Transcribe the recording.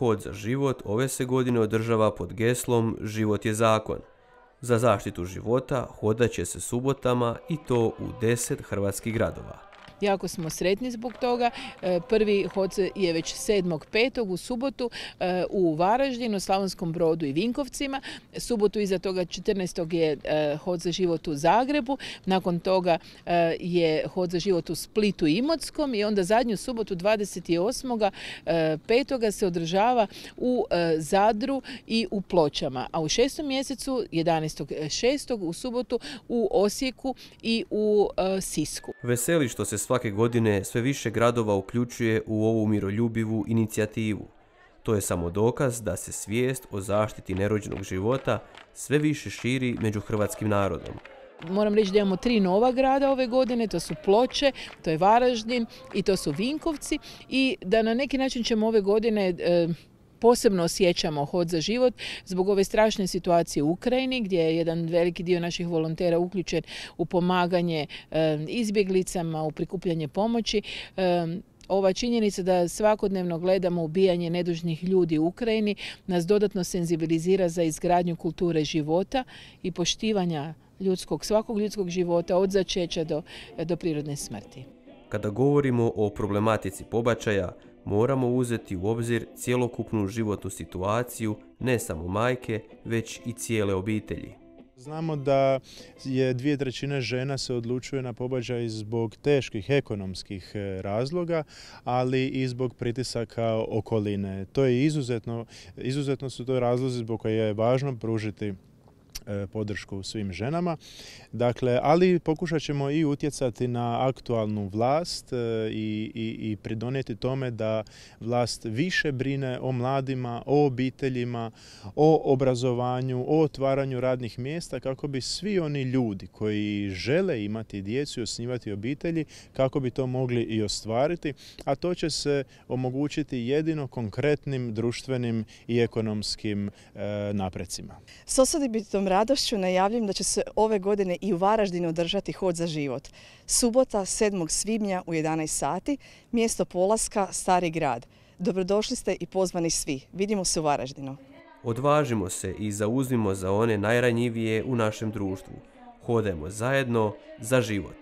Hod za život ove se godine održava pod geslom Život je zakon. Za zaštitu života hodat će se subotama i to u 10 hrvatskih gradova. Jako smo sretni zbog toga. Prvi hod je već 7.5. u subotu u Varaždinu, Slavonskom Brodu i Vinkovcima. Subotu iza toga 14. je hod za život u Zagrebu. Nakon toga je hod za život u Splitu i Imotskom i onda zadnju subotu 28.5. se održava u Zadru i u Pločama. A u 6. mjesecu 11.6. u subotu u Osijeku i u Sisku. Veseli što se svake godine sve više gradova uključuje u ovu miroljubivu inicijativu. To je samo dokaz da se svijest o zaštiti nerođenog života sve više širi među hrvatskim narodom. Moram reći da imamo 3 nova grada ove godine, to su Ploče, to je Varaždin i to su Vinkovci i da na neki način ćemo ove godine posebno osjećamo hod za život zbog ove strašne situacije u Ukrajini gdje je jedan veliki dio naših volontera uključen u pomaganje izbjeglicama, u prikupljanje pomoći. Ova činjenica da svakodnevno gledamo ubijanje nedužnih ljudi u Ukrajini nas dodatno senzibilizira za izgradnju kulture života i poštivanja svakog ljudskog života od začeća do prirodne smrti. Kada govorimo o problematici pobačaja, moramo uzeti u obzir cjelokupnu životnu situaciju ne samo majke, već i cijele obitelji. Znamo da je 2/3 žena se odlučuje na pobačaj zbog teških ekonomskih razloga, ali i zbog pritisaka okoline. To je izuzetno su to razlozi zbog koje je važno pružiti podršku svim ženama. Dakle, ali pokušat ćemo i utjecati na aktualnu vlast i pridonijeti tome da vlast više brine o mladima, o obiteljima, o obrazovanju, o otvaranju radnih mjesta kako bi svi oni ljudi koji žele imati djecu i osnivati obitelji, kako bi to mogli i ostvariti, a to će se omogućiti jedino konkretnim društvenim i ekonomskim naprecima. S osobitom radošću najavljam da će se ove godine i u Varaždinu održati hod za život. Subota 7. svibnja u 11 sati, mjesto polaska Stari grad. Dobrodošli ste i pozvani svi. Vidimo se u Varaždinu. Odvažimo se i zauzmimo za one najranjivije u našem društvu. Hodajmo zajedno za život.